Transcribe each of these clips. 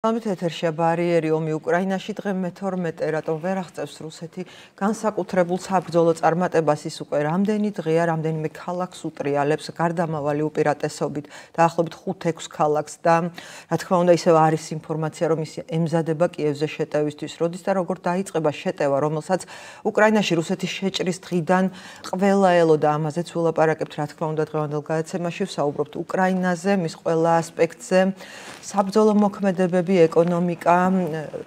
ამით ეთერშია ბარიერი ომი უკრაინაში დღე მე-12 რატომ ვერ აღწევს რუსეთი განსაკუთრებულ საბრძოლო წარმატებას ის უკვე რამდენი დღეა რამდენიმე ქალაქს უტრიალებს გარდამავალი უპირატესობით დაახლოებით 5-6 ქალაქს და რა თქმა უნდა ისევ არის ინფორმაცია რომ ის ემზადება კიევზე შეტევისთვის როდის და როგორ დაიწყება შეტევა რომელსაც უკრაინაში რუსეთის შეჭრის დღიდან ყველა ელოდა ამაზეც ვილაპარაკებთ რა თქმა უნდა დღევანდელ გადაცემაში ვსაუბრობთ უკრაინაზე მის ყველა ასპექტზე საბრძოლო მოქმედებები ეკონომიკა,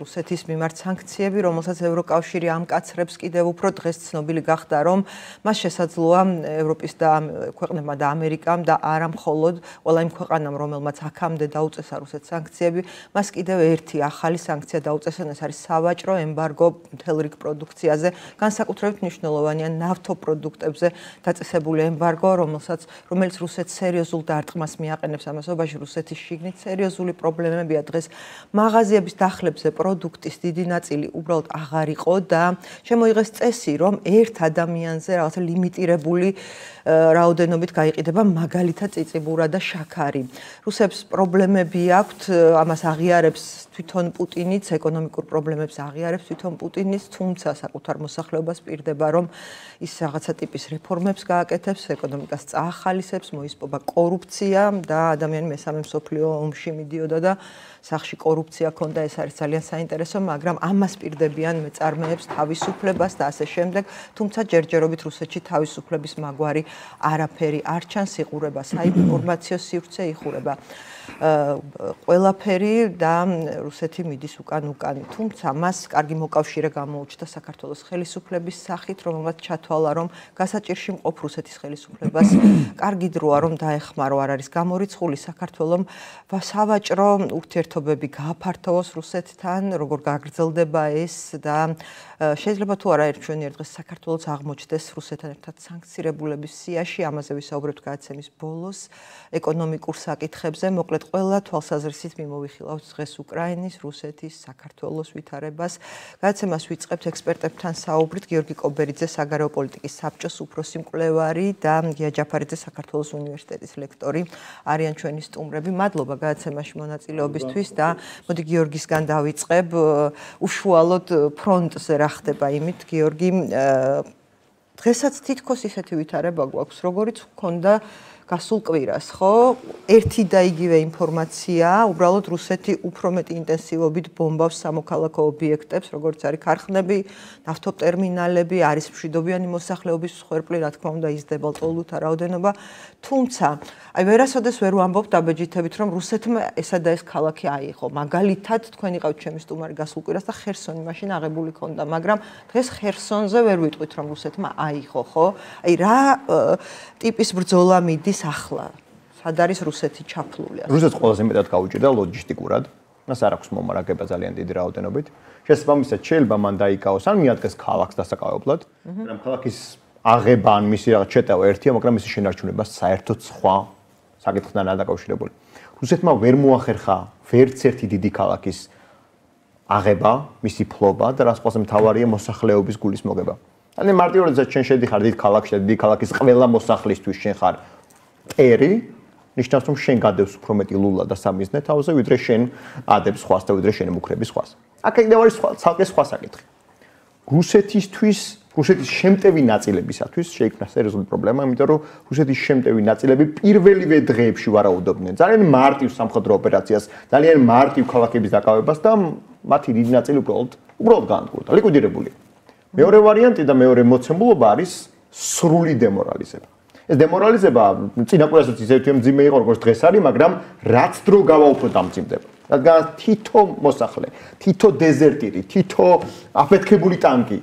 რუსეთის მიმართ სანქციები, რომელსაც ევროკავშირი ამკაცრებს კიდევ უფრო დღეს ცნობილი გახდა, რომ მას შესაძლოა ევროპის და ქვეყნებმა და ამერიკამ და არა მხოლოდ ყველა იმ ქვეყანამ, რომელმაც აქამდე დაუწესა რუსეთს სანქციები, მას კიდევ ერთი ახალი სანქცია დაუწესა, ეს არის სავაჭრო ემბარგო მთელ რიგ პროდუქციაზე, განსაკუთრებით მნიშვნელოვანია ნავთობპროდუქტებზე დაწესებული ემბარგო, რომელიც რუსეთს სერიოზულ დარტყმას მიაყენებს ამასობაში, რუსეთის შიგნით სერიოზული პრობლემებია დღეს მაღაზიების დახლებზე პროდუქტის დიდი ნაწილი უბრალოდ აღარ იყო და შემოიღეს წესი, რომ ერთ ადამიანზე რაღაცა ლიმიტირებული რაოდენობით გაიყიდება მაგალითად წიწიბურა და შაქარი. რუსებს პრობლემები აქვთ, ამას აღიარებს თვითონ პუტინიც, ეკონომიკურ პრობლემებს აღიარებს თვითონ პუტინიც, თუმცა საკუთარ მოსახლეობას პირდება, რომ ის რაღაცა ტიპის რეფორმებს გააკეთებს, ეკონომიკას წაახალისებს, მოისპობა კორუფცია და ადამიანი მესამე მსოფლიო ომში მიდიოდა და სახში კორუფცია ქონდა, ეს არის ძალიან საინტერესო, მაგრამ ამას პირდებიან მეწარმეებს თავისუფლებას და ასე შემდეგ, თუმცა ჯერჯერობით რუსეთში თავისუფლების მაგვარი არაფერი არ ჩანს, იხურება საინფორმაციო სივრცე, იხურება ყველაფერი და რუსეთი მიდის უკან-უკან. თუმცა მას კარგი მოკავშირე გამოუჩნდა საქართველოს ხელისუფლების სახით, რომელმაც ჩათვალა, რომ გასაჭირში მყოფ რუსეთის ხელისუფლებას კარგი დროა, რომ დაეხმარო, არ არის გამორიცხული საქართველომ სავაჭრო ურთიერთობები გააფართოვოს რუსეთთან, როგორ გაგრძელდება ეს და შეიძლება თუ არა ერთშვენიერ დღეს საქართველოს აღმოჩნდეს რუსეთთან ერთად სანქცირებულების სიაში, ამაზე ვისაუბრებთ გადაცემის ბოლოს, ეკონომიკურ საკითხებზე, მოკლედ ყველა თვალსაზრისით მიმოვიხილავთ დღეს უკრაინის, რუსეთის, საქართველოს ვითარებას. გადაცემას ვიწყებთ ექსპერტებთან საუბრით, გიორგი კობერიძე, საგარეო პოლიტიკის საბჭოს უფროსი მკვლევარი და გია ჯაფარიძე, საქართველოს უნივერსიტეტის ლექტორი არიან ჩვენი სტუმრები. მადლობა გადაცემაში მონაწილეობისთვის და მოდი გიორგისგან დავიწყებ, უშუალოდ ფრონტზე რა ხდება იმით, გიორგი, დღესაც თითქოს ისეთი ვითარება გვაქვს, როგორიც ჰქონდა გასულ კვირას, ხო? ერთი და იგივე ინფორმაცია, უბრალოდ რუსეთი უფრო მეტი ინტენსივობით ბომბავს სამოქალაქო ობიექტებს, როგორც არის ქარხნები, ნავთობტერმინალები, არის მშვიდობიანი მოსახლეობის მსხვერპლი, რა თქმა უნდა, იზრდება ლტოლვილთა რაოდენობა, თუმცა, აი ვერასოდეს ვერ ვამბობ დაბეჯითებით, რომ რუსეთმა ესა და ეს ქალაქი აიღო. მაგალითად, თქვენ იყავთ ჩემი სტუმარი გასულ კვირას და ხერსონი მაშინ აღებული ქონდა, მაგრამ დღეს ხერსონზე ვერ ვიტყვით, რომ რუსეთმა აიღო, ხო? აი რა ტიპის ბრძოლა მიდის ახლა, სად არის რუსეთი ჩაფლული? რუსეთს ყველაზე მეტად გაუჭირდა ლოჯისტიკურად. მას არ აქვს მომარაგება ძალიან დიდი რაოდენობით. შესაბამისად, შეიძლება მან დაიკავოს ან მიადგეს ქალაქს დასაკავებლად, მაგრამ ქალაქის აღება ან მისი რაღაც შეტევა ერთია, მაგრამ მისი შენარჩუნება საერთოდ სხვა საკითხთან არ დაკავშირებული. რუსეთმა ვერ მოახერხა ვერც ერთი დიდი ქალაქის აღება, მისი ფლობა და რას ყველაზე მთავარია მოსახლეობის გულის მოგება. ანუ მარტივად შენ შედიხარ დიდ ქალაქში და დიდი ქალაქის ყველა მოსახლისთვის შენ ხარ ერი, ნიშნავს რომ შენ გადევს უფრო მეტი ლულა და სამიზნე თავზე, ვიდრე შენ ადებს სხვას და ვიდრე შენ ემუქრები სხვას. აქ კიდევ არის ცალკე სხვა საკითხი. რუსეთის შემტევი ნაწილებისათვის შეიქმნა სერიოზული პრობლემა, იმიტომ რომ რუსეთის შემტევი ნაწილები პირველივე დღეებში ვარაუდობდნენ ძალიან მარტივ სამხედრო ოპერაციას, ძალიან მარტივ ქალაქების დაკავებას და მათი დიდი ნაწილი უბრალოდ განადგურდა, ლიკვიდირებული. მეორე ვარიანტი და მეორე მოცემულობა არის სრული დემორალიზება. ეს დემორალიზება წინა კვირასაც ისეთი მძიმე იყო, როგორც დღეს არის, მაგრამ რაც დრო გავა უფრო დამძიმდება. რადგან თითო მოსახლე, თითო დეზერტირი, თითო აფეთქებული ტანკი,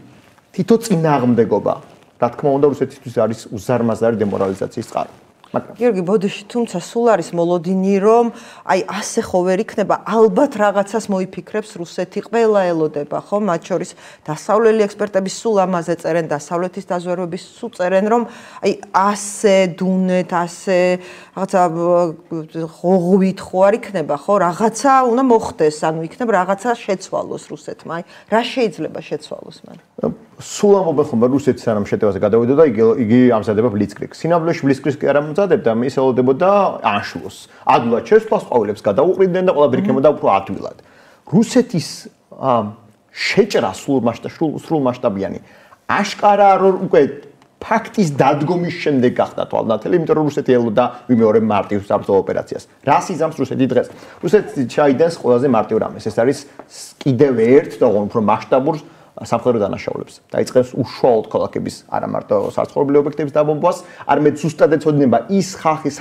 თითო წინააღმდეგობა, რა თქმა უნდა, რუსეთისთვის არის უზარმაზარი დემორალიზაციის წყარო. გიორგი, ბოდიში, თუმცა სულ არის მოლოდინი, რომ აი ასე ხო ვერ იქნება, ალბათ რაღაცას მოიფიქრებს რუსეთი, ყველა ელოდება, ხო? მათ შორის დასავლელი ექსპერტები სულ ამაზე წერენ, დასავლეთის დაზვერვების სულ წერენ, რომ აი ასე დუნეთ, ასე რაღაცა ღოღვით ხო არ იქნება, ხო? რაღაცა უნდა მოხდეს, ანუ იქნება რაღაცა შეცვალოს რუსეთმა. აი რა შეიძლება შეცვალოს მან? სულ ამბობენ ხომ რუსეთი სანამ შეტევაზე გადავიდა და იგი ამზადება ბლიცკრიგს. სინამდვილეში ბლიცკრიგს არ ამზადებდა, ის ელოდებოდა ანშლუსს. ადვილად შესვლას ყვავილებს გადაუყრიდნენ და ყველაფერი იქნებოდა უფრო ადვილად. რუსეთის შეჭრა სრულმასშტაბიანი აშკარაა რომ უკვე ფაქტის დადგომის შემდეგ გახდა თვალნათელი, იმიტომ რომ რუსეთი ელოდა ვიმეორებ მარტივ საბრძოლო ოპერაციას. რას იზამს რუსეთი დღეს? რუსეთი ჩაიდენს ყველაზე მარტივ რამეს. ეს არის კიდევ ერთ თქო უფრო მასშტაბურ სამხედრო დანაშაულებს. დაიწყებს უშუალოდ ქალაქების არა მარტო საცხოვრებელი ობიექტების დაბომბვას, არამედ ზუსტად ეცოდინება ის ხალხის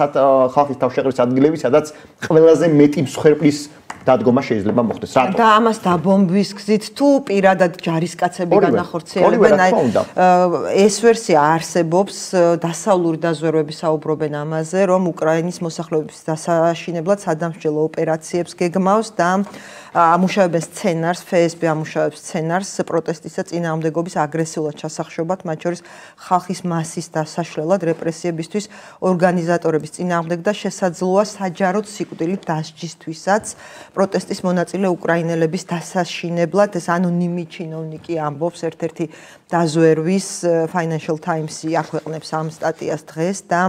თავშეყრის ადგილები, სადაც ყველაზე მეტი მსხვერპლის დადგომა შეიძლება მოხდეს. რატო? და ამას დაბომბვის გზით თუ პირადად ჯარისკაცები განახორციელებენ, ეს ვერსია არსებობს, დასავლური დაზვერვები საუბრობენ ამაზე, რომ უკრაინის მოსახლეობის დასაშინებლად სადამსჯელო ოპერაციებს გეგმავს და ამუშავებენ სცენარს, FSB ამუშავებს სცენარს პროტესტისა წინააღმდეგობის აგრესიულად ჩასახშობად, მათ შორის ხალხის მასის დასაშლელად, რეპრესიებისთვის, ორგანიზატორების წინააღმდეგ და შესაძლოა საჯაროდ სიკვდილით დასჯისთვისაც პროტესტის მონაწილე უკრაინელების დასაშინებლად. ეს ანონიმი ჩინოვნიკი ამბობს, ერთ-ერთი დაზვერვის Financial Times-ი აქვეყნებს ამ სტატიას დღეს და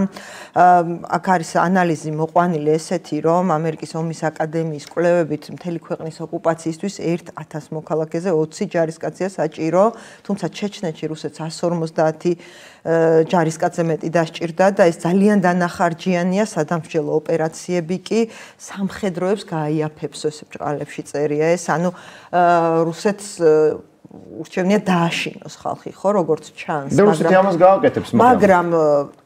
აქ არის ანალიზი მოყვანილი ესეთი, რომ ამერიკის ომის აკადემიის კვლევებით მთელი ქვეყნის ოკუპაციისთვის 1000 მოქალაქეზე 20 ჯარისკაცია საჭირო, თუმცა ჩეჩნეთში რუსეთს 150 ჯარისკაცზე მეტი დასჭირდა და ეს ძალიან დანახარჯიანია, სადამსჯელო ოპერაციები კი სამხედროებს გააიაფებს, ესე ბრალებში წერია ეს, ანუ რუსეთს ურჩევნია დააშინოს ხალხი, ხო, როგორც ჩანს, მაგრამ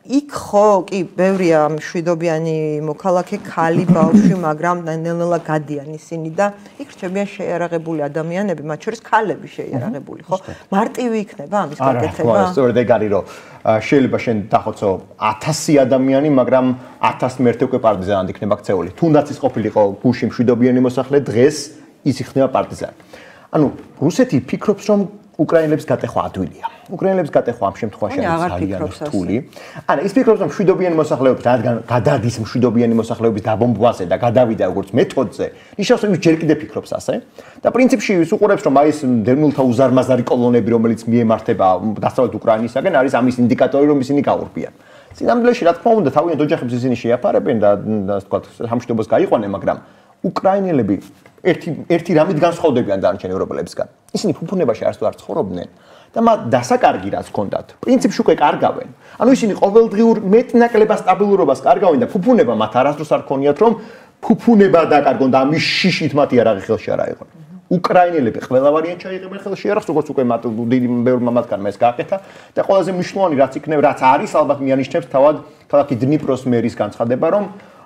იქ ხო, კი, ბევრია მშვიდობიანი მოქალაქე, ქალი, ბავშვი, მაგრამ ნელ-ნელა გადიან ისინი და იქ რჩებიან შეიარაღებული ადამიანები, მათ შორის ქალები შეიარაღებული, ხო? მარტივი იქნება ამის გაკეთება? არა, სწორედ ეგ არის, რომ შეიძლება შენ დახოცო 1000 ადამიანი, მაგრამ 1001 უკვე პარტიზანად იქნება ქცეული. თუნდაც ის ყოფილიყო გუში მშვიდობიანი მოსახლე, დღეს ის იქნება პარტიზანი. ანუ რუსეთი ფიქრობს, რომ უკრაინელებს გატეხვა ადვილია. უკრაინელებს გატეხვა ამ შემთხვევაში ძალიან რთული. არა, ის ფიქრობს, რომ მშვიდობიანი მოსახლეობის, რადგან გადადის მშვიდობიანი მოსახლეობის დაბომბვაზე და გადავიდა როგორც მეთოდზე, ნიშნავს, რომ ის ჯერ კიდევ ფიქრობს ასე. და პრინციპში ის უყურებს, რომ აი ეს დევნილთა უზარმაზარი კოლონები, რომელიც მიემართება დასავლეთ უკრაინისაგან, არის ამის ინდიკატორი, რომ ისინი გაურბიან. სინამდვილეში, რა თქმა უნდა, თავიანთ ოჯახებს ისინი შეაფარებენ და ასე ვთქვათ, სამშვიდობოს გაიყვანენ, მაგრამ უკრაინელები ერთი რამით განსხვავდებიან დანარჩენ ევროპელებისგან. ისინი ფუფუნებაში არც თუ არ ცხოვრობდნენ და მათ დასაკარგი რაც ჰქონდათ, პრინციპში უკვე კარგავენ. ანუ ისინი ყოველდღიურ მეტნაკლებად სტაბილურობას კარგავენ და ფუფუნება მათ არასდროს არ ქონიათ, რომ ფუფუნება დაკარგონ და ამის შიშით მათი არაღი ხელში არ აიღონ. უკრაინელები ყველა ვარიანტ ჩაიღებენ ხელში არახს, როგორც უკვე მათ დიდი ბევრმა მათგანმა ეს გააკეთა და ყველაზე მნიშვნელოვანი რაც იქნება, რაც არის ალბათ მიანიშნებს თავად ქალაქი დნიპროს მერის განცხადება, რომ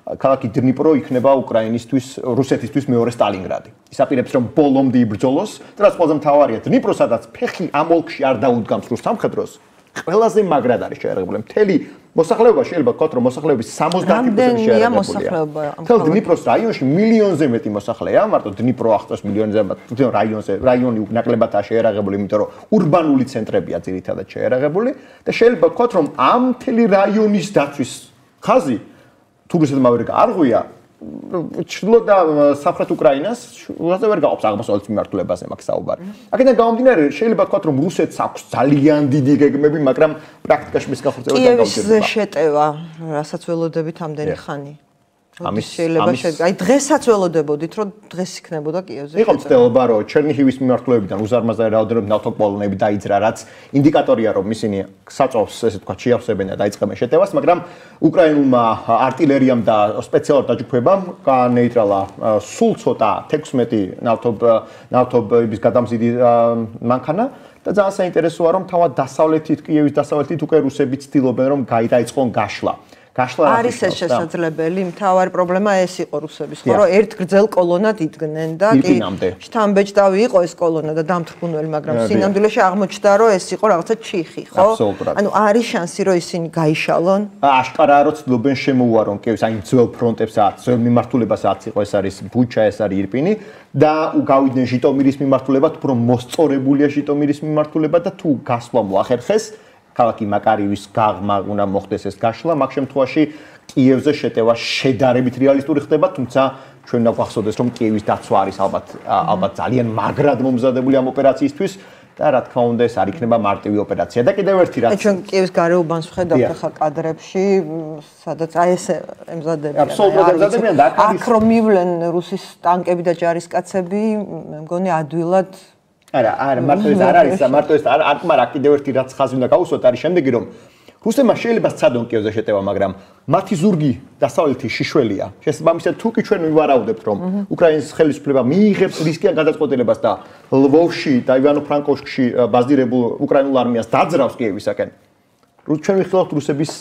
ქალაქი დნიპრო იქნება უკრაინისთვის, რუსეთისთვის მეორე სტალინგრადი. ის აპირებს რომ ბოლომდე იბრძოლოს და რაც ყველაზე მთავარია, დნიპრო სადაც ფეხი ამ ოლქში არ დაუდგამს რუს სამხედროს, ყველაზე მაგრად არის შეერაღებული. მთელი მოსახლეობა შეიძლება ვთქვათ, რომ მოსახლეობის 70% შეერაღებულია. მთელ დნიპროს რაიონში მილიონზე მეტი მოსახლეა, მარტო დნიპრო ახსოვს მილიონზე მეტი რაიონი ნაკლებადაა შეერაღებული, იმიტომ რომ ურბანული ცენტრებია ძირითადად შეერაღებული და შეიძლება ვთქვათ, რომ ამ მთელი რაიონის დაცვის ხაზი თუ რუსეთმა ვერ გაარღვია, ჩრდილო და სამხრეთ უკრაინას უაზე ვერ გაყოფს აღმოსავლეთის მიმართულებაზე მაგ საუბარი. აქედან გამომდინარე, შეიძლება ვთქვათ, რომ რუსეთს აქვს ძალიან დიდი გეგმები, მაგრამ პრაქტიკაში მის გახორციელებას არ გაუჭირდება. კიევის შეტევა, რასაც ველოდებით ამდენი ხანი. ამის შეიძლება აი დღესაც ველოდებოდით, რომ დღეს იქნებოდა კიევზე. იყო მცდელობა, რომ ჩერნიჰივის მიმართულებიდან უზარმაზარი რაოდენობით ნავთობკოლონები დაიძრა, რაც ინდიკატორია, რომ ისინი საწვავს, ესე ვთქვათ, შეავსებენ და დაიწყებენ შეტევას, მაგრამ უკრაინულმა არტილერიამ და სპეციალურ დაჯგუფებამ განეიტრალა სულ ცოტა 16 ნავთობის გადამზიდი მანქანა და ძალიან საინტერესოა, რომ თავად დასავლეთით, კიევის დასავლეთით უკვე რუსები ცდილობენ, რომ დაიწყონ გაშლა. არის ეს შესაძლებელი, მთავარი პრობლემა ეს იყო რუსების, ხო, რომ ერთ გრძელ კოლონად იდგნენ და კი შთამბეჭდავი იყო ეს კოლონა და დამთრგუნველი, მაგრამ სინამდვილეში აღმოჩნდა, რომ ეს იყო რაღაცა ჩიხი, ხო? ანუ არის შანსი, რომ ისინი გაიშალონ? აშკარაა, რომ ცდილობენ შემოუარონ კიევს, აი ძველ ფრონტებსაც, ძველ მიმართულებასაც იყო, ეს არის ბუჩა, ეს არის ირპინი და გავიდნენ ჟიტომირის მიმართულებად, უფრო მოსწორებულია ჟიტომირის მიმართულება და თუ გასვლა მოახერხეს ქალაქი მაკარივის გაღმა უნდა მოხდეს ეს გაშლა, მაგ შემთხვევაში კიევზე შეტევა შედარებით რეალისტური ხდება, თუმცა ჩვენ უნდა გვახსოვდეს, რომ კიევის დაცვა არის ალბათ ძალიან მაგრად მომზადებული ამ ოპერაციისთვის. და რა თქმა უნდა ეს არ იქნება მარტივი ოპერაცია და კიდევ ერთი რაც ჩვენ კიევის გარეუბანს ვხედავთ ახლა კადრებში სადაც აი ეს ემზადებიან აბსოლუტურად ემზადებიან და აქ რომ მივლენ რუსის ტანკები და ჯარისკაცები მე მგონი ადვილად არა მარტო ეს არ არის მარტო ეს არ კიდევ ერთი რაც ხაზი უნდა გავუსვათ არის შემდეგი რომ რუსებმა შეიძლება სცადონ კიევზე შეტევა, მაგრამ მათი ზურგი დასავლეთის შიშველია. შესაბამისად, თუ კი ჩვენ ვივარაუდებთ, რომ უკრაინის ხელისუფლება მიიღებს რისკიან გადაწყვეტილებას და ლვოვში და ივანო-ფრანკოვსკში ბაზირებულ უკრაინულ არმიას დაძრავს კიევისაკენ, ჩვენ ვიხილავთ რუსების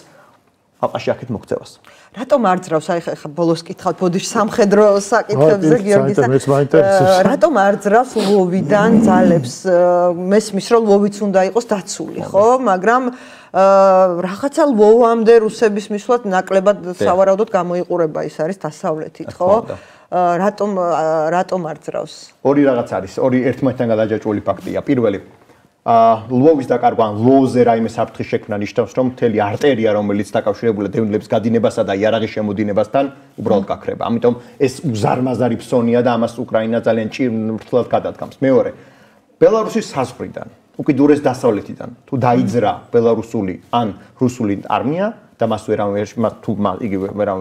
ალყაში აქეთ მოქცევას. რატომ არ ძრავს? აი ხა ბოლოს კითხავთ ბოდიში სამხედრო საკითხებზე გიორგისა. რატომ არ ძრავს ლვოვიდან ძალებს? მესმის რომ ლვოვიც უნდა იყოს დაცული, ხო? მაგრამ რაღაცა ლვოვამდე რუსების მისვლად ნაკლებად სავარაუდოდ გამოიყურება ის არის დასავლეთით, ხო? რატომ არ ძრავს? ორი რაღაც არის, ორი ერთმანეთთან გადაჯაჭვული ფაქტია. პირველი ლვოვის დაკარგვა, ლვოვზე რაიმე საფრთხის შექმნა ნიშნავს, რომ მთელი არტერია, რომელიც დაკავშირებულია დევნილების გადინებასა და იარაღის შემოდინებასთან, უბრალოდ გაქრება. ამიტომ ეს უზარმაზარი ფსონია და ამას უკრაინა ძალიან ჭირმრთლად გადადგამს. მეორე, ბელარუსის საზღვრიდან, უკიდურეს დასავლეთიდან, თუ დაიძრა ბელარუსული ან რუსული არმია და მას ვერავინ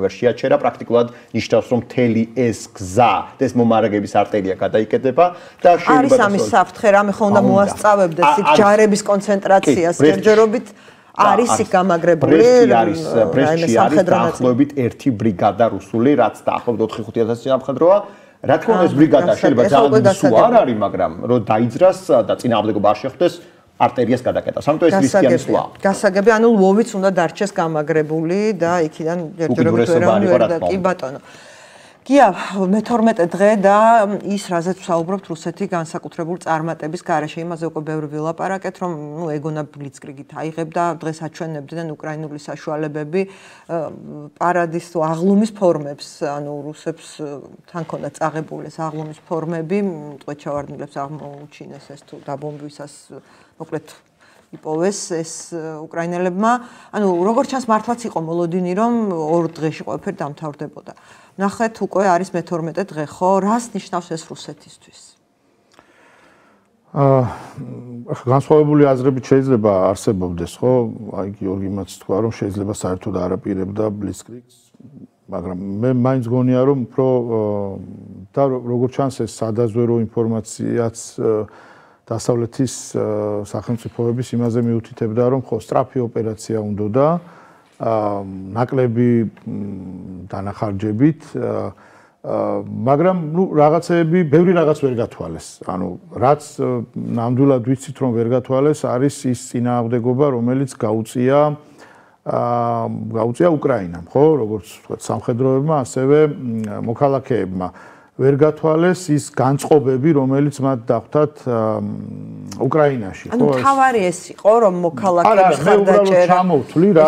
ვერ შეაჩერა, პრაქტიკულად ნიშნავს, რომ მთელი ეს გზა და ეს მომარაგების არტერია გადაიკეტება და არის ამის საფრთხე, რამე ხო უნდა მოასწავებდეს იქ ჯარების კონცენტრაციას ჯერჯერობით არის იქ გამაგრებული ბრესტში არის დაახლოებით 1 ბრიგადა რუსული, რაც დაახლოებით 4-5000 სამხედროა. რა თქმა უნდა ეს ბრიგადა შეიძლება ძალიან სულ არ არის, მაგრამ რომ დაიძრას და წინააღმდეგობა არ შეხვდეს არტერიას გადაკეტავს. ამიტომ ეს რისკიანი სვლა. გასაგებია, ანუ ლვოვიც უნდა დარჩეს გამაგრებული და იქიდან ჯერჯერობით ვერ და კი ბატონო. გია, მე-12 დღე და ის რაზეც ვსაუბრობთ რუსეთი განსაკუთრებულ წარმატების გარეშე, იმაზე უკვე ბევრი ვილაპარაკეთ, რომ ეგონა ბლიცკრიგით აიღებდა, დღეს აჩვენებდნენ უკრაინული საშუალებები პარადის თუ აღლუმის ფორმებს, ანუ რუსებს თან ქონდა წაღებული ეს აღლუმის ფორმები, ტყვეჩავარდნილებს აღმოუჩინეს ეს თუ დაბომბვისას მოკლედ იპოვეს ეს უკრაინელებმა. ანუ როგორც ჩანს მართლაც იყო მოლოდინი, რომ 2 დღეში ყველაფერი დამთავრდებოდა. ნახეთ, უკვე არის მე-12 დღე, ხო? რას ნიშნავს ეს რუსეთისთვის? განსხვავებული აზრები შეიძლება არსებობდეს, ხო? აი გიორგი მას თქვა, რომ შეიძლება საერთოდ არ აპირებდა ბლიცკრიგს, მაგრამ მე მაინც გონია, რომ უფრო და როგორც ჩანს ეს სადაზვერო ინფორმაციაც დასავლეთის სახელმწიფოების იმაზე მიუთითებდა, რომ ხო სწრაფი ოპერაცია უნდოდა ნაკლები დანახარჯებით, მაგრამ რაღაცეები, ბევრი რაღაც ვერ გათვალეს. ანუ რაც ნამდვილად ვიცით, რომ ვერ გათვალეს, არის ის წინააღმდეგობა, რომელიც გაუწია უკრაინამ, ხო, როგორც ვთქვათ, სამხედროებმა, ასევე მოქალაქეებმა. ვერ გათვალეს ის განწყობები, რომელიც მათ დახვდათ უკრაინაში, ხო? ანუ თავარი ეს იყო, რომ მოქალაქეების ხარდაჭერა. ჩამოვთვლი რა,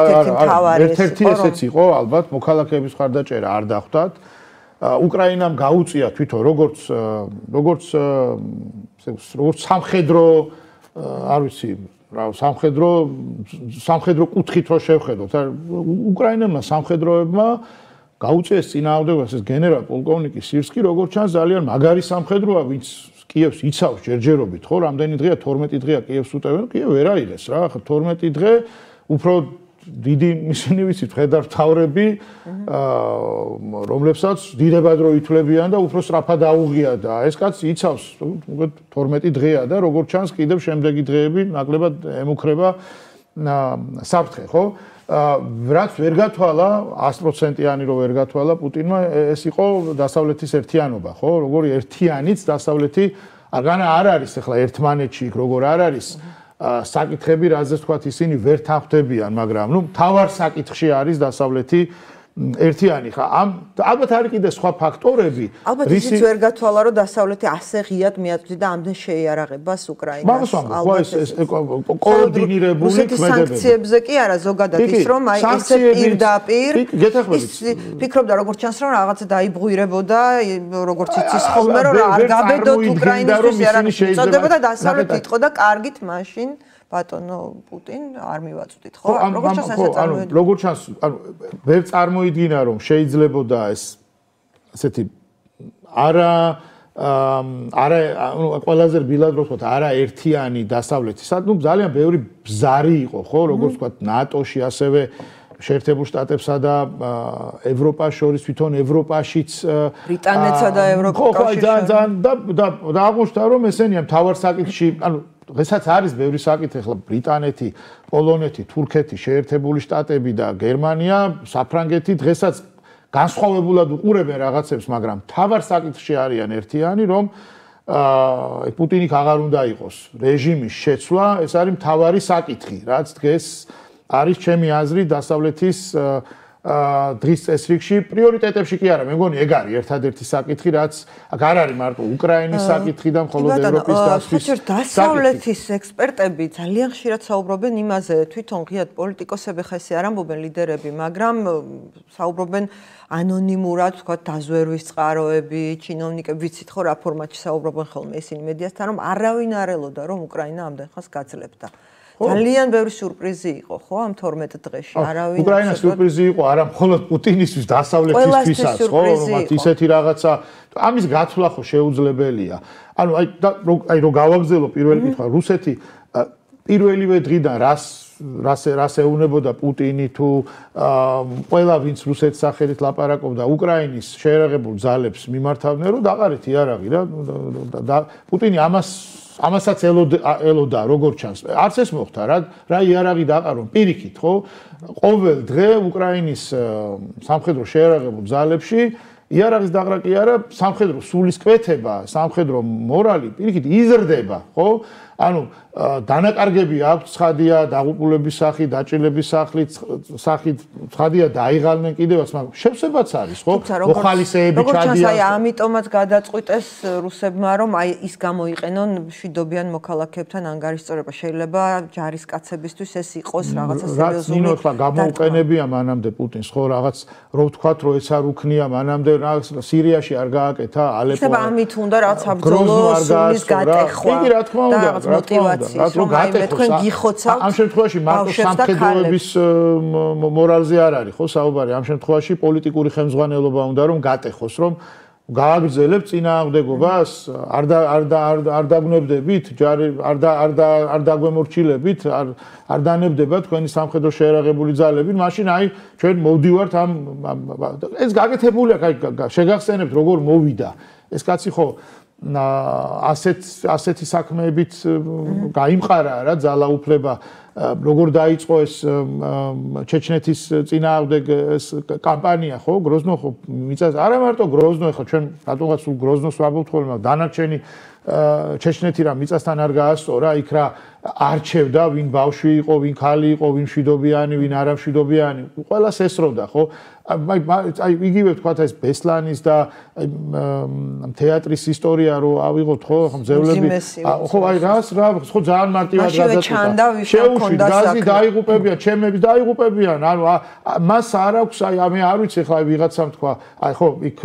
ერთ-ერთი ესეც იყო, ალბათ, მოქალაქეების ხარდაჭერა არ დახვდათ. უკრაინამ გაუწია თვითონ როგორც სამხედრო, არ ვიცი, რა, სამხედრო კუთხით რო შევხედოთ, უკრაინელმა სამხედროებმა გაუწიეს წინააღმდეგობას ეს გენერალ-პოლკოვნიკი სირსკი, როგორც ჩანს, ძალიან მაგარი სამხედროა, ვინც კიევს იცავს ჯერჯერობით, ხო, რამდენი დღეა 12 დღეა კიევს უტევენ, კიევ ვერ აიღეს რა, 12 დღე უფრო დიდი ისინი ვიცით, მხედართმთავრები, რომლებსაც დიდებად რო ითვლებიან და უფრო სწრაფად აუღია და ეს კაცი იცავს, მოგეთ 12 დღეა და როგორც ჩანს, კიდევ შემდეგი დღეები ნაკლებად ემუქრება საფრთხე, ხო? რაც ვერ გათვალა 100%-იანი რო ვერ გათვალა პუტინმა ეს იყო დასავლეთის ერთიანობა, ხო? როგორი ერთიანიც დასავლეთი არ არის ახლა ერთმანეთში იქ როგორ არ არის საკითხები, რაზეც თქვათ ისინი ვერ თანხმდებიან, მაგრამ ნუ თავარ საკითხში არის დასავლეთი ერთიანი ხა. ალბათ არის კიდე სხვა ფაქტორები. ალბათ ისიც ვერ გათვალა, რომ დასავლეთი ასე ღიად მიაწვდიდა ამდენ შეიარაღებას უკრაინას. ალბათ ეს კოორდინირებული ქმედებები. სანქციებზე კი არა, ზოგადად ის რომ აი ესე პირდაპირ ფიქრობდა როგორც ჩანს, რომ რაღაცა დაიბრუნებოდა, როგორც იცის ხოლმე, რომ არ გაბედოთ უკრაინისთვის იარაღი შეწოდებოდა და დასავლეთი იტყოდა კარგით მაშინ ბატონო პუტინ არ მივაწვდით, ხო? როგორც ჩანს ასე წარმოედგინა. როგორც ჩანს, ანუ ვერ წარმოიდგინა რომ შეიძლებოდა ეს ასეთი არა არა ყველაზე რბილად რო ვთქვათ, არა ერთიანი დასავლეთი. ძალიან ბევრი ბზარი იყო, ხო, როგორც ვთქვათ, ნატოში, ასევე შეერთებულ შტატებსა და ევროპას შორის, თვითონ ევროპაშიც ბრიტანეთსა და ევროკავშირში. ხო, ძალიან და აღმოჩნდა, რომ ესენია მთავარ საკითხში, ანუ დღესაც არის ბევრი საკითხი, ახლა ბრიტანეთი, პოლონეთი, თურქეთი, შეერთებული შტატები და გერმანია, საფრანგეთი დღესაც განსხვავებულად უყურებენ რაღაცებს, მაგრამ მთავარ საკითხში არიან ერთიანი, რომ პუტინი აღარ უნდა იყოს რეჟიმის შეცვლა, ეს არის მთავარი საკითხი, რაც დღეს არის ჩემი აზრით დასავლეთის დღის წესრიგში პრიორიტეტებში კი არა, მე მგონი ეგ არის ერთადერთი საკითხი, რაც აქ არ არის მარტო უკრაინის საკითხი და მხოლოდ ევროპის დასვლის საკითხი. დასავლეთის ექსპერტები ძალიან ხშირად საუბრობენ იმაზე, თვითონ ღიად პოლიტიკოსები ხესი არ ამბობენ ლიდერები, მაგრამ საუბრობენ ანონიმურად, ვთქვათ, დაზვერვის წყაროები, ჩინოვნიკები, ვიცით ხო რა ფორმატში საუბრობენ ხოლმე ისინი მედიასთან, რომ არავინ არ ელოდა, რომ უკრაინა ამდენ ხანს გაძლებდა. ძალიან ბევრი სიურპრიზი იყო, ხო, ამ 12 დღეში. არავინ უკრაინას სიურპრიზი იყო, არა მხოლოდ პუტინისთვის, დასავლეთისთვისაც, ხო, რომ ისეთი რაღაცა, ამის გაცვლა ხო შეუძლებელია. ანუ აი რო გავაგზავნო პირველი კითხვა, რუსეთი პირველივე დღიდან რას ეუნებოდა პუტინი თუ ყველა ვინც რუსეთის სახელით ლაპარაკობდა უკრაინის შეერაღებულ ძალებს მიმართავდნენ, რომ დაყარეთ იარაღი რა და პუტინი ამასაც ელოდა როგორც ჩანს. არც ეს მოხდა რა იარაღი დაყარო პირიქით, ხო? ყოველ დღე უკრაინის სამხედრო შეერაღებულ ძალებში იარაღის დაყრა კი არა, სამხედრო სულისკვეთება, სამხედრო მორალი პირიქით იზრდება, ხო? ანუ დანაკარგები აქვს, ცხადია, დაღუპულების სახით, დაჭილების სახით, ცხადია, დაიღალნენ კიდევაც, მაგრამ შევსებაც არის, ხო? მოხალისეები ჩადიან. როგორც აი ამიტომაც გადაწყვიტეს რუსებმა, რომ აი ის გამოიყენონ მშვიდობიან მოქალაქეებთან ანგარიშწორება. შეიძლება ჯარისკაცებისთვის ეს იყოს რაღაცა სერიოზული. რაც ნინო ახლა გამოუყენებია მანამდე პუტინს, ხო, რაღაც რო ვთქვათ, რომ ეს არ უქნია მანამდე სირიაში არ გააკეთა, ალეპო. ხება ამით უნდა რაც საბრძოლო სულის გატეხვა. იგი რა თქმა უნდა, მოტივაციის, რომ აი მე თქვენ გიხოცავთ. ამ შემთხვევაში მარტო სამხედროების მორალზე არ არის, ხო, საუბარი. ამ შემთხვევაში პოლიტიკური ხელმძღვანელობა უნდა რომ გატეხოს, რომ გააგრძელებ წინააღმდეგობას, არ დაგვნებდებით, ჯარი არ დაგვემორჩილებით, არ დანებდება თქვენი სამხედრო შეერაღებული ძალები, მაშინ აი ჩვენ მოვდივართ ამ ეს გაკეთებულია, შეგახსენებთ როგორ მოვიდა. ეს კაცი ხო ასეთი საქმეებით გაიმყარა რა ძალაუფლება როგორ დაიწყო ეს ჩეჩნეთის წინააღმდეგ ეს კამპანია ხო გროზნო ხო მიწას არა მარტო გროზნო ხო ჩვენ რატომღაც სულ გროზნოს ვაბობთ ხოლმე დანარჩენი ჩეჩნეთი რა მიწასთან არ გაასწორა იქ რა არჩევდა ვინ ბავშვი იყო ვინ ხალი იყო ვინ მშვიდობიანი ვინ არამშვიდობიანი ყველას ესროდა ხო აი იგივე ვთქვათ ეს ბესლანის და თეატრის ისტორია რო ავიღოთ ხო მძევლები ხო აი რას რა ხო ძალიან მარტივად გადაწყვეტა შეუშვით გაზი დაიღუპებიან ჩემები დაიღუპებიან ანუ მას არ აქვს აი მე არ ვიცი ხა ვიღაცამ თქვა აი ხო იქ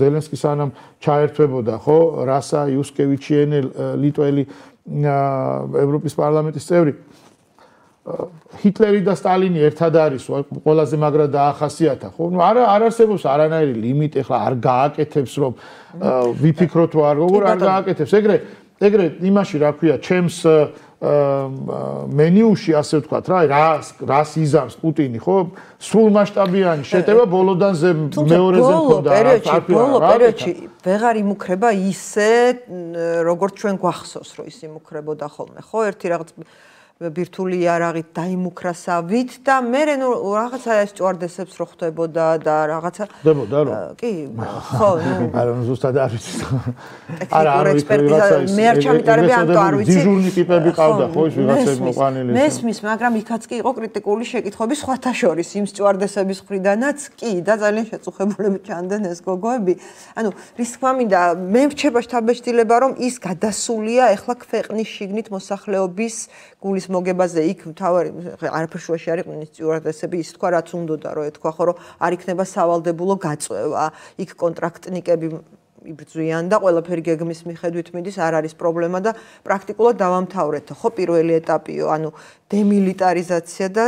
ზელენსკი სანამ ჩაერთვებოდა ხო რასა იუსკევიჩიენე ლიტველი ევროპის პარლამენტის წევრი ჰიტლერი და სტალინი ერთად არის ყველაზე მაგრად დაახასიათა ხო ნუ არ არსებობს არანაირი ლიმიტი ხლა არ გააკეთებს რომ ვიფიქროთ რომ როგორ არ გააკეთებს ეგრე იმაში რა ქვია ჩემს მენიუში ასე ვთქვათ რა რას იზამს პუტინი ხო სულ მასშტაბიანი შეტევა ბოლოდანზე მეორეზე მქონდა ბოლო პერიოდში ვეღარ იმუქრება ისე როგორც ჩვენ გვახსოვს რომ ის იმუქრებოდა ხოლმე ხო ერთი რაღაც ბირთული იარაღით დაიმუქრასავით და მე რაღაცა სტიუარდესებს რო ხდებოდა და რაღაცა ხდებოდა რო კი ხო ნუ არა ზუსტად არ ვიცი არა ექსპერტიზა მე არ ჩამიტარები ამიტომ არ ვიცი დიჟურნი ტიპები ყავდა ხო ის ვიღაცები მოყვანილი მესმის მაგრამ იქაც კი იყო კრიტიკული შეკითხვები სხვათა შორის იმ სტიუარდესების მხრიდანაც კი და ძალიან შეწუხებულები ჩანდნენ ეს გოგოები ანუ რის თქმა მინდა მე მრჩება შთაბეჭდილება რომ ის გადასულია ეხლა ქვეყნის შიგნით მოსახლეობის გულის მოგებაზე იქ თავარი არაფერ შუაში არ იყვნენ სტიუარდესები ის თქვა რაც უნდოდა რომ ეთქვა ხო რომ არ იქნება სავალდებულო გაწევა იქ კონტრაქტნიკები იბრძვიან და ყველაფერი გეგმის მიხედვით მიდის, არ არის პრობლემა და პრაქტიკულად დავამთავრეთ. ხო, პირველი ეტაპიო, ანუ დემილიტარიზაცია და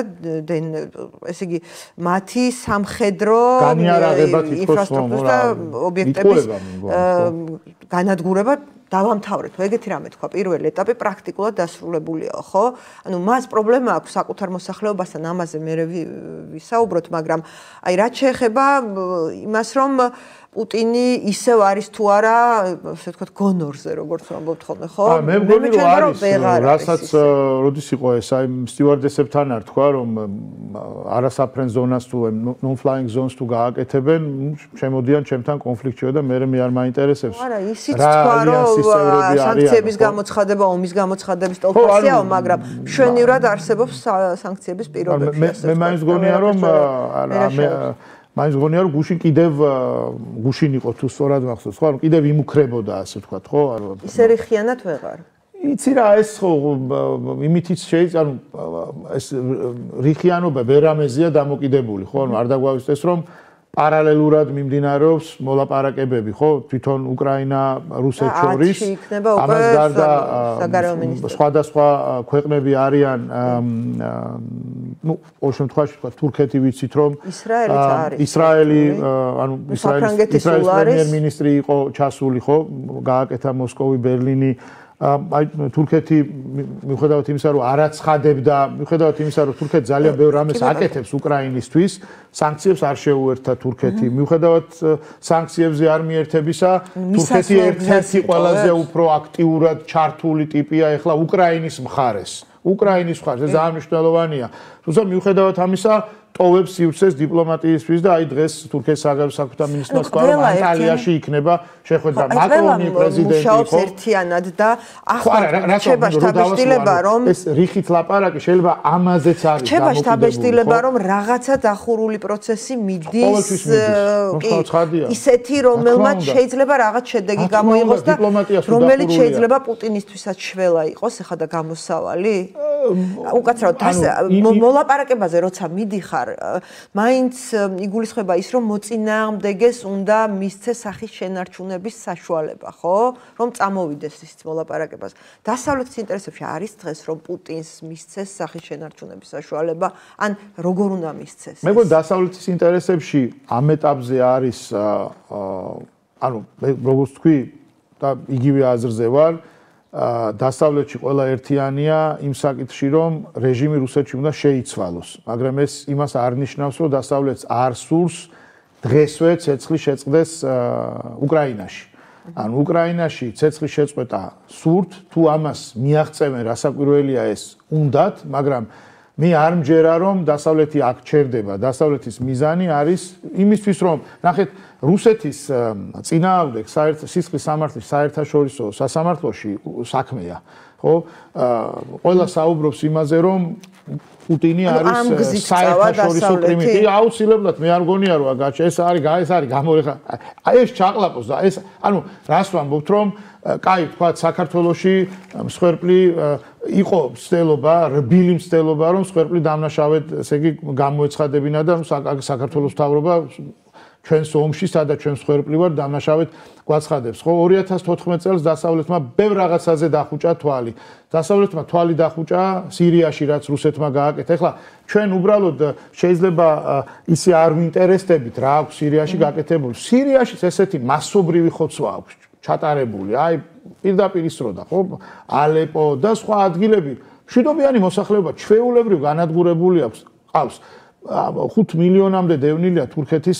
ესე იგი მათი სამხედრო ინფრასტრუქტურის და ობიექტების განადგურება დავამთავრეთ. ეგეთი რამე თქვა, პირველი ეტაპი პრაქტიკულად დასრულებულია, ხო? ანუ მას პრობლემა აქვს საკუთარ მოსახლეობასთან, ამაზე მე ვისაუბროთ, მაგრამ აი რაც შეეხება იმას, რომ პუტინი ისევ არის თუ არა, ასე ვთქვათ, გონორზე, როგორც ვამბობთ ხოლმე, ხო? მე მგონი რომ არის, რასაც როდის იყო ეს, აი სტიუარდესებთან არ თქვა, რომ არასაფრენ ზონას თუ non-flying zones თუ გააკეთებენ, შემოდიან ჩემთან კონფლიქტშიო და მე არ მაინტერესებს. არა, ისიც თქვა, რომ სანქციების გამოცხადება, ომის გამოცხადების ტოლფასიაო, მაგრამ მშვენივრად არსებობს სანქციების პირობებში. მე მაინც გონია, რომ მაინც გონია რომ გუშინ კიდევ გუშინ იყო თუ სწორად მახსოვს ხო კიდევ იმუქრებოდა ასე ვთქვათ ხო ისე რიხიანად ვეღარ იცი რა ეს ხო იმითიც შეიძლება ანუ ეს რიხიანობა ვერამეზია დამოკიდებული ხო ანუ არ დაგვავიწყდეს რომ პარალელურად მიმდინარეობს მოლაპარაკებები ხო თვითონ უკრაინა რუსეთს შორის ამას გარდა სხვადასხვა ქვეყნები არიან ну, в общем, თქვაში თქვა თურქეთი ვიცით რომ ისრაელი ანუ ისრაელის პრემიერ-მინისტრი იყო ჩასული ხო გააკეთა მოსკოვი ბერლინი აი თურქეთი მიუხედავად იმისა რომ არ აცხადებდა მიუხედავად იმისა რომ თურქეთი ძალიან ბევრ რამეს აკეთებს უკრაინისთვის სანქციებს არ შეუერთა თურქეთი მიუხედავად სანქციებზე არ მიერთებისა თურქეთი ერთ-ერთი ყველაზე უფრო აქტიურად ჩართული ტიპია ეხლა უკრაინის მხარეს უკრაინის მხარეს ეს ძალიან მნიშვნელოვანია თუმცა მიუხედავად ამისა ტოვებს სივრცეს დიპლომატიისთვის და აი დღეს თურქეთის საგარეო საქმეთა მინისტრმა თქვა რომ ანტალიაში იქნება შეხვედრა მაკრონი პრეზიდენტი ხო ერთიანად და ახლა ჩება შტაბ-შტილება რომ ეს რიხით ლაპარაკი შეიძლება ამაზეც არის ჩება შტაბ-შტილება რომ რაღაცა დახურული პროცესი მიდის ისეთი რომელმაც შეიძლება რაღაც შედეგი გამოიღოს და რომელიც შეიძლება პუტინისთვისაც შველა იყოს ეხლა და გამოსავალი უკაცრავად მოლაპარაკებაზე როცა მიდიხარ მაინც იგულისხმება ის რომ მოწინააღმდეგეს უნდა მისცეს სახის შენარჩუნების საშუალება ხო რომ წამოვიდეს ის მოლაპარაკებას დასავლეთის ინტერესებში არის დღეს რომ პუტინს მისცეს სახის შენარჩუნების საშუალება ან როგორ უნდა მისცეს მე მგონი დასავლეთის ინტერესებში ამ ეტაპზე არის ანუ როგორც თქვი და იგივე აზრზე ვარ დასავლეთში ყველა ერთიანია იმ საკითხში რომ რეჟიმი რუსეთში უნდა შეიცვალოს მაგრამ ეს იმას არ ნიშნავს რომ დასავლეთს არ სურს დღესვე ცეცხლი შეწყდეს უკრაინაში ანუ უკრაინაში ცეცხლის შეწყვეტა სურთ თუ ამას მიაღწევენ რასაკვირველია ეს უნდათ მაგრამ მე არ მჯერა რომ დასავლეთი აქ ჩერდება დასავლეთის მიზანი არის იმისთვის რომ ნახეთ რუსეთის წინააღმდეგ სისხლის სამართლის საერთაშორისო სასამართლოში საქმეა ხო ყველა საუბრობს იმაზე რომ პუტინი არის საერთაშორისო კრიმინალი აუცილებლად მე არ მგონია რომ ეს არის გამორეხა აი ეს ჩაყლაპოს და ეს ანუ რას ვამბობთ რომ კაი თქვა საქართველოში მსხვერპლი იყო მცდელობა რბილი მცდელობა რომ მსხვერპლი დამნაშავედ ესე იგი გამოეცხადებინა და საქართველოს მთავრობა ჩვენს ომში სადაც ჩვენ მსხვერპლი ვარ დამნაშავედ გვაცხადებს ხო 2014 წელს დასავლეთმა ბევრ რაღაცაზე დახუჭა თვალი დასავლეთმა თვალი დახუჭა სირიაში რაც რუსეთმა გააკეთა ეხლა ჩვენ უბრალოდ შეიძლება ისე არ ვინტერესდებით რა აქვს სირიაში გაკეთებული სირიაში ესეთი მასობრივი ხოცვა აქვს ჩატარებული აი პირდაპირ ისროდა ხო ალეპო და სხვა ადგილები მშვიდობიანი მოსახლეობა ჩვეულებრივ განადგურებული აქვს ყავს 5 მილიონამდე დევნილია თურქეთის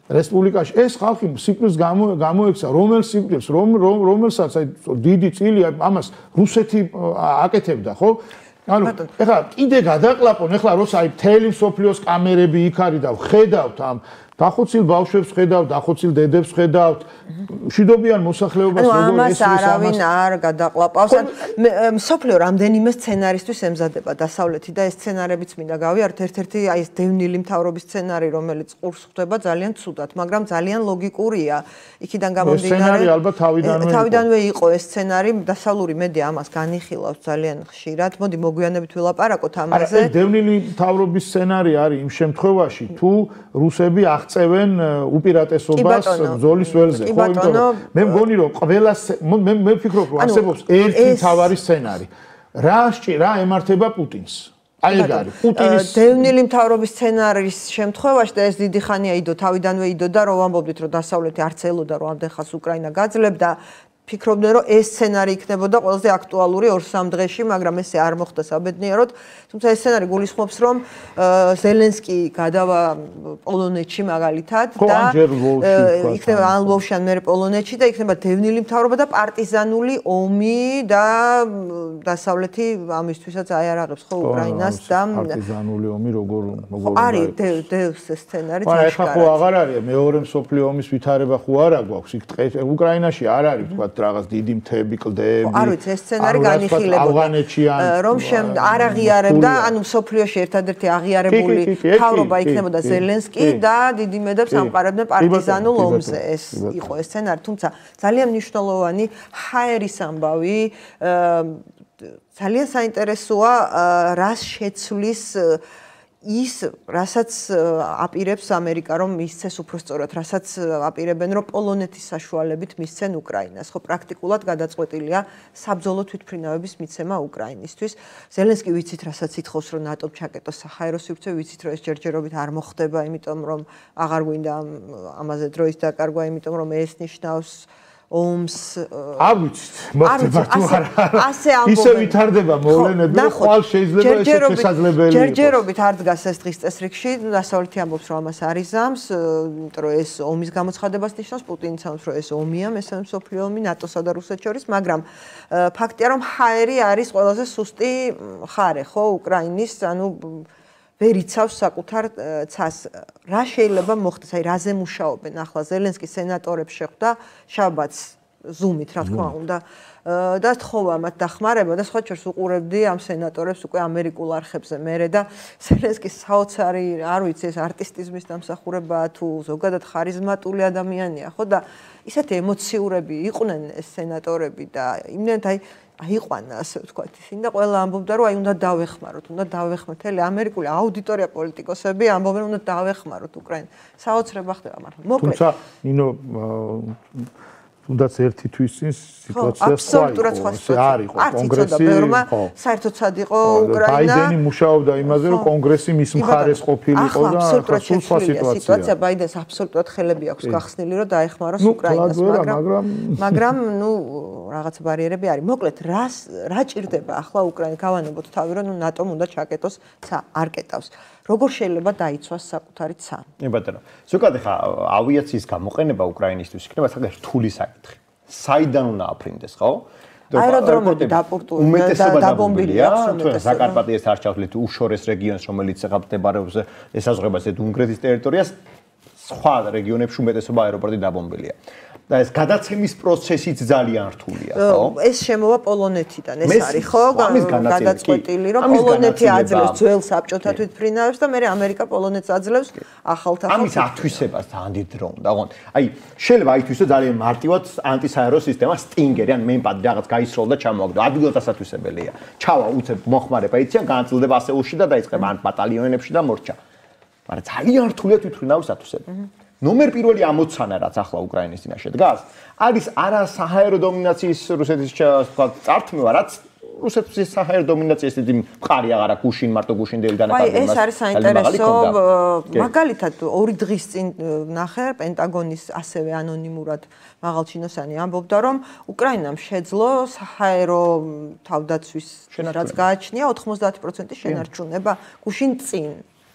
რესპუბლიკაში ეს ხალხი სიკვდილს გამოექცა რომელ სიკვდილს რომელსაც აი დიდი წილი ამას რუსეთი აკეთებდა ხო ანუ ეხლა კიდე გადაყლაპონ ეხლა როცა აი მთელი მსოფლიოს კამერები იქ არის და ხედავთ ამ დახოცილ ბავშვებს ხედავთ, დახოცილ დედებს ხედავთ, მშვიდობიან მოსახლეობას როგორ ესვის ამას არავინ არ გადაყლაპავს. მსოფლიო რამდენიმე სცენარისთვის ემზადება დასავლეთი და ეს სცენარებიც მინდა გავიაროთ. ერთ-ერთი აი ეს დევნილი მთავრობის სცენარი, რომელიც ყურს ხვდება ძალიან ცუდად, მაგრამ ძალიან ლოგიკურია. იქიდან გამომდინარე. სცენარი ალბათ თავიდანვე იყო ეს სცენარი, დასავლური მედია ამას განიხილავს ძალიან ხშირად. მოდი მოგვიანებით ვილაპარაკოთ ამაზე. ეს დევნილი მთავრობის სცენარი არის იმ შემთხვევაში, თუ რუსები აღწევენ უპირატესობას ბრძოლის ველზე, ხო, იმიტომ რომ მე მგონი რომ ყველა მე ვფიქრობ რომ არსებობს ერთი მთავარი სცენარი. რა ემართება პუტინს? აი ეგ არის პუტინის დევნილი მთავრობის სცენარის შემთხვევაში და ეს დიდი ხანია თავიდანვე იდოდა რომ ვამბობდით რომ დასავლეთი არც ელოდა რომ ამდენ ხანს უკრაინა გაძლებდა ფიქრობდნენ რომ ეს სცენარი იქნებოდა ყველაზე აქტუალური 2-3 დღეში, მაგრამ ესე არ მოხდა საბედნიეროდ. თუმცა ეს სცენარი გულისხმობს რომ ზელენსკი გადავა პოლონეთში მაგალითად და იქნება ან ლვოვში ან მერე პოლონეთში და იქნება დევნილი მთავრობა და პარტიზანული ომი და დასავლეთი ამისთვისაც აიარაღებს ხო უკრაინას და პარტიზანული ომი როგორ არის დევს სცენარი აი ხა ხო აღარ არის მეორე მსოფლიო ომის ვითარება ხო არა გვაქვს იქ უკრაინაში არ არის თქვა რაღაც დიდი მთები, კლდეები. არ ვიცი, ეს სცენარი განიხილებოდა. რომ არ აღიარებდა, ანუ მსოფლიოში ერთადერთი აღიარებული მთავრობა იქნებოდა ზელენსკი და დიდი მედებს ამყარებდნენ პარტიზანულ ომზე. ეს იყო ეს სცენარი, თუმცა ძალიან მნიშვნელოვანი ჰაერის ამბავი ძალიან საინტერესოა რას შეცვლის ის რასაც აპირებს ამერიკა რომ მისცეს უფრო სწორად, რასაც აპირებენ რომ პოლონეთის საშუალებით მისცენ უკრაინას. ხო, პრაქტიკულად გადაწყვეტილია საბრძოლო თვითმფრინავების მიცემა უკრაინისთვის. ზელენსკი ვიცით, რასაც ითხოვს რომ ნატომ ჩაკეტოს საჰაერო სივრცე, ვიცით რომ ეს ჯერჯერობით არ მოხდება, იმიტომ რომ აღარ გვინდა ამაზე დროის დაკარგვა, იმიტომ რომ ეს ნიშნავს ომს არ ვიცით მოხდება თუ არა ისე ვითარდება მოვლენები რომ ხვალ შეიძლება ესე შესაძლებელი იყოს ჯერჯერობით არ დგას ეს დღის წესრიგში დასავლეთი ამბობს რომ ამას არ იზამს იმიტომ რომ ეს ომის გამოცხადებას ნიშნავს პუტინიც ამბობს რომ ეს ომია მესამე მსოფლიო ომი ნატოსა და რუსეთს შორის მაგრამ ფაქტია რომ ჰაერი არის ყველაზე სუსტი მხარე ხო უკრაინის ანუ ვერ იცავს საკუთარ ცას. რა შეიძლება მოხდეს, აი რაზე მუშაობენ ახლა ზელენსკი სენატორებს შეხვდა შაბათს ზუმით, რა თქმა უნდა. და თხოვა მათ დახმარება და სხვა შორის უყურებდი ამ სენატორებს უკვე ამერიკულ არხებზე მერე და ზელენსკის საოცარი, არ ვიცი, ეს არტისტიზმის დამსახურებაა თუ ზოგადად ხარიზმატული ადამიანია, ხო და ისეთი ემოციურები იყვნენ ეს სენატორები და იმდენად აიყვანა ასე ვთქვათ ისინი და ყველა ამბობდა რომ აი უნდა დავეხმაროთ, უნდა დავეხმაროთ. მთელი ამერიკული აუდიტორია პოლიტიკოსები ამბობენ უნდა დავეხმაროთ უკრაინას. საოცრება ხდება მაგრამ მოკლედ. თუმცა ნინო თუნდაც ერთი თვის წინ სიტუაცია სხვა იყო კონგრესი საერთოდ სად იყო უკრაინა ბაიდენი მუშაობდა იმაზე რომ კონგრესი მის მხარეს ყოფილიყო და სულ სხვა სიტუაცია ბაიდენს აბსოლუტურად ხელები აქვს გახსნილი რომ დაეხმაროს უკრაინას მაგრამ ნუ რაღაც ბარიერები არის მოკლედ რა ჭირდება ახლა უკრაინა გავანებოთ თავი რომ ნატომ უნდა ჩაკეტოს ცა არ კეტავს როგორ შეიძლება დაიცვას საკუთარი ცა ბატონო ზოგადად ხა ავიაციის გამოყენება უკრაინისთვის იქნება საკუთარი რთული საკითხი საიდან უნდა აფრინდეს ხო აეროდრომები დაბომბილია თუ საკარპატიას არ ჩავთვლით უშორეს რეგიონს რომელიც ახლა მდებარეობს ესაზღვრება ზედ უნგრეთის ტერიტორიას სხვა რეგიონებში უმეტესობა აეროპორტი დაბომბილია და ეს გადაცემის პროცესიც ძალიან რთულია ხო ეს შემოვა პოლონეთიდან ეს არის ხო გადაწყვეტილი რომ პოლონეთი აძლევს ძველ საბჭოთა თვითმფრინავებს და მე ამერიკა პოლონეთს აძლევს ახალ ამის ათვისებას ძალიან დიდ დრო უნდა ხო აი შეიძლება აითვისო ძალიან მარტივად ანტისაერო სისტემა სტინგერი ან მემპადი რაღაც გაისროლ და ჩამოაგდო ადგილად ასათვისებელია ჩავა უცებ მოხმარება იციან განაწილდება ასეულში და დაიწყება ან ბატალიონებში და მორჩა მაგრამ ძალიან რთულია თვითმფრინავის ათვისება ნომერ პირველი ამოცანა რაც ახლა უკრაინის წინაშე დგას არის არა საჰაერო დომინაციის რუსეთის თქვა წართმევა რაც რუსეთის საჰაერო დომინაციის დიდი მხარი აღარა გუშინ მარტო გუშინდელი დანაკარგები ეს არის საინტერესო მაგალითად 2 დღის წინ ნახე პენტაგონის ასევე ანონიმურად მაღალჩინოსანი ამბობდა რომ უკრაინამ შეძლო საჰაერო თავდაცვის რაც გააჩნია 90% შენარჩუნება გუშინ წინ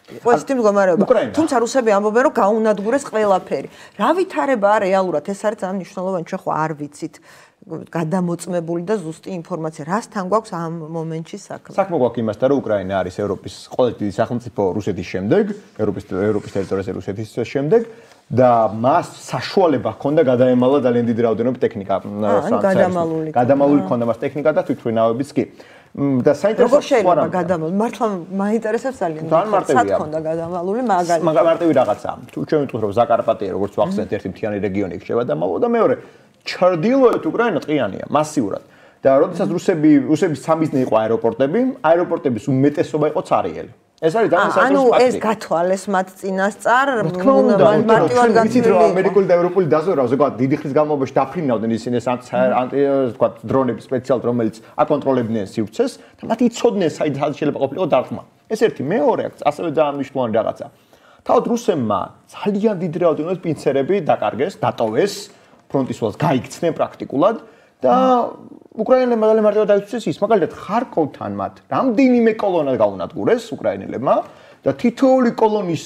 ყოველთვის მდგომარეობა. თუმცა რუსები ამბობენ რომ გაუნადგურეს ყველაფერი. რა ვითარებაა რეალურად? ეს არის ძალიან მნიშვნელოვანი, ჩვენ ხო არ ვიცით გადამოწმებული და ზუსტი ინფორმაცია. რასთან გვაქვს ამ მომენტში საქმე? საქმე გვაქვს იმასთან, რომ უკრაინა არის ევროპის ყველაზე დიდი სახელმწიფო რუსეთის შემდეგ, ევროპის ტერიტორიაზე რუსეთის შემდეგ და მას საშუალება ჰქონდა გადაემალა ძალიან დიდი რაოდენობით ტექნიკა. გადამალული ჰქონდა მას ტექნიკა და თვითმფრინავებიც კი. და საინტერესო როგორ შეიძლება გადამალული მართლა მაინტერესებს ძალიან სად ხონდა გადამალული მაგალითად მარტივი რაღაცაა თუ ჩვენ ვიტყვით რომ ზაკარპატია როგორც ვახსენეთ ერთი მთიანი რეგიონი იქ შევადამალო და მეორე ჩრდილოეთ უკრაინა ტყიანია მასიურად და როდესაც რუსების სამიზნე იყო აეროპორტების უმეტესობა იყო ცარიელი ეს არის ძალიან საინტერესო ანუ ფაქტი. ეს გათვალეს მათ წინასწარ მარტივად გაცვლილი რომ ამერიკული და ევროპული დაზვერვა ზოგადად დიდი ხნის განმავლობაში დაფრინავდნენ ისინი ეს თქვა დრონები სპეციალურად რომელიც აკონტროლებდნენ სივრცეს და მათ იცოდნენ საიდან შეიძლება ყოფილიყო დარტყმა. ეს ერთი, მეორე ასევე ძალიან მნიშვნელოვანი რაღაცა. თავად რუსებმა ძალიან დიდი რაოდენობით პინცერები დაკარგეს, დატოვეს ფრონტის ველს გაიქცნენ პრაქტიკულად და უკრაინელებმა ძალიან მარტივად დაიწვეს ის, მაგალითად ხარკოვთან მათ რამდენიმე კოლონა გაუნადგურეს უკრაინელებმა და თითოეული კოლონის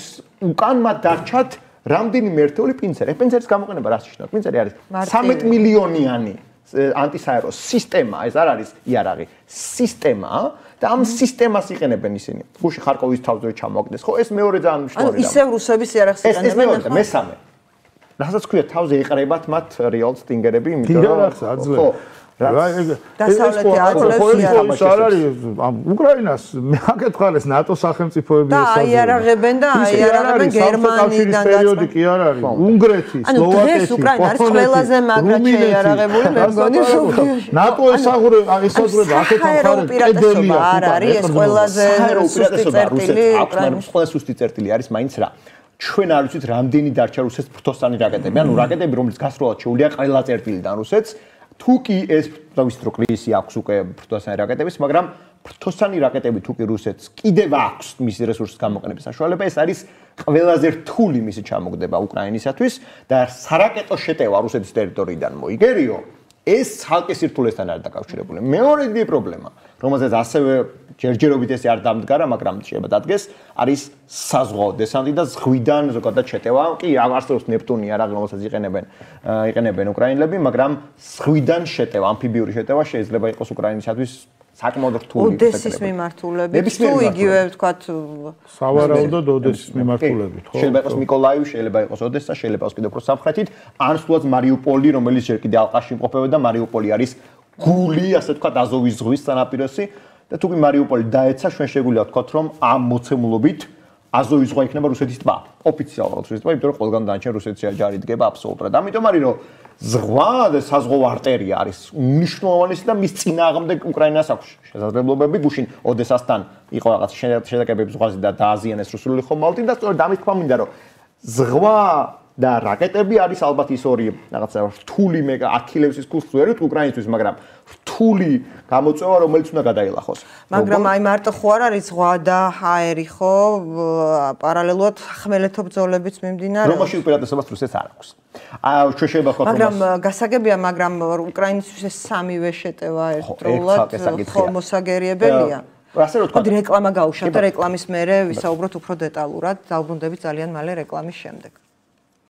უკან მათ დარჩათ რამდენიმე ერთეული პინცერი. პინცერის გამოყენება რას ნიშნავს? პინცერი არის 13 მილიონიანი ანტისაერო სისტემა, ეს არ არის იარაღი, სისტემა და ამ სისტემას იყენებენ ისინი. გუში ხარკოვის თავზე ჩამოაგდეს, ხო, ეს მეორე ძალიან მნიშვნელოვანი ანუ ისევ რუსების იარაღს იყენებენ ახლა. მესამე. რასაც ქვია თავზე იყრებათ მათ რეალ სტინგერები, იმიტომ რომ ხო დასავლეთი აძლევს არ არის უკრაინას მეაკეთხალეს ნატო სახელმწიფოები და აიარაღებენ და აიარაღებენ გერმანიიდან პერიოდი კი არ არის უნგრეთი სლოვაკეთი ანუ ეს უკრაინა არის ყველაზე მაგრად შეიარაღებული მე მგონი ნატო ესაზღვრება 1000 უპირატესობა არ არის ეს ყველაზე სუსტი წერტილი უკრაინის ყველა სუსტი წერტილი არის მაინც რა ჩვენ არ ვიცით რამდენი დარჩა რუსეთს ფრთოსანი რაკეტები ანუ რაკეტები რომელიც გასროლად შეუძლია ყველა წერტილიდან რუსეთს თუ კი ეს ვიცით რომ კრიზისი აქვს უკვე ფრთოსანი რაკეტების, მაგრამ ფრთოსანი რაკეტები თუ კი რუსეთს კიდევ აქვს მისი რესურსის გამოყენების საშუალება, ეს არის ყველაზე რთული მისი ჩამოგდება უკრაინისათვის და სარაკეტო შეტევა რუსეთის ტერიტორიიდან მოიგერიო, ეს ცალკე სირთულესთან არის დაკავშირებული. მეორე დიდი პრობლემა, რომელზეც ასევე ჯერჯერობით ეს არ დამდგარა, მაგრამ შეიძლება დადგეს, არის საზღვაო დესანტი და ზღვიდან ზოგადად შეტევა. კი, არსებობს ნეპტუნი არა, რომელსაც იყენებენ უკრაინელები, მაგრამ ზღვიდან შეტევა, ამფიბიური შეტევა შეიძლება იყოს უკრაინისათვის საკმაოდ რთული. ოდესის მიმართულებით, თუ იგივე ვთქვათ, სავარაუდოდ ოდესის მიმართულებით, ხო? შეიძლება იყოს მიკოლაივი, შეიძლება იყოს ოდესა, შეიძლება იყოს კიდევ უფრო სამხრეთით, ან სულაც მარიუპოლი, რომელიც ჯერ კიდევ ალყაში იმყოფებოდა, მარიუპოლი არის გული, ასე ვთქვათ, აზოვის ზღვის სანაპიროსი. და თუ კი მარიუპოლი დაეცა, ჩვენ შეგვიძლია ვთქვათ, რომ ამ მოცემულობით აზოვის ზღვა იქნება რუსეთის ტბა. ოფიციალურად რუსეთის ტბა, იმიტომ რომ ყველგან დანარჩენ რუსეთის ჯარი დგება აბსოლუტურად. ამიტომ არის რომ ზღვა და საზღვაო არტერია არის მნიშვნელოვანესი და მის წინააღმდეგ უკრაინას აქვს შესაძლებლობები. გუშინ ოდესასთან იყო რაღაც შედაკებები ზღვაზე და დააზიანეს რუსული ხომალდი და სწორედ ამის თქმა მინდა რომ ზღვა და რაკეტები არის ალბათ ის ორი რაღაცა რთული აქილევსის ქუსლი ვერ ვიტყვი უკრაინისთვის, მაგრამ რთული გამოწვევა, რომელიც უნდა გადაილახოს. მაგრამ აი მარტო ხო არ არის ზღვა და ჰაერი ხო პარალელურად ხმელეთო ბრძოლებიც მიმდინარეობს. რომაში უპირატესობას რუსეთს არ აქვს. ჩვენ შეიძლება ვთქვათ, მაგრამ გასაგებია, მაგრამ უკრაინისთვის ეს სამივე შეტევა ერთდროულად ხო მოსაგერიებელია. ასე რომ ვთქვათ, რეკლამა გაუშვათ და რეკლამის მერე ვისაუბროთ უფრო დეტალურად, დავბრუნდებით ძალიან მალე რეკლამის შემდეგ.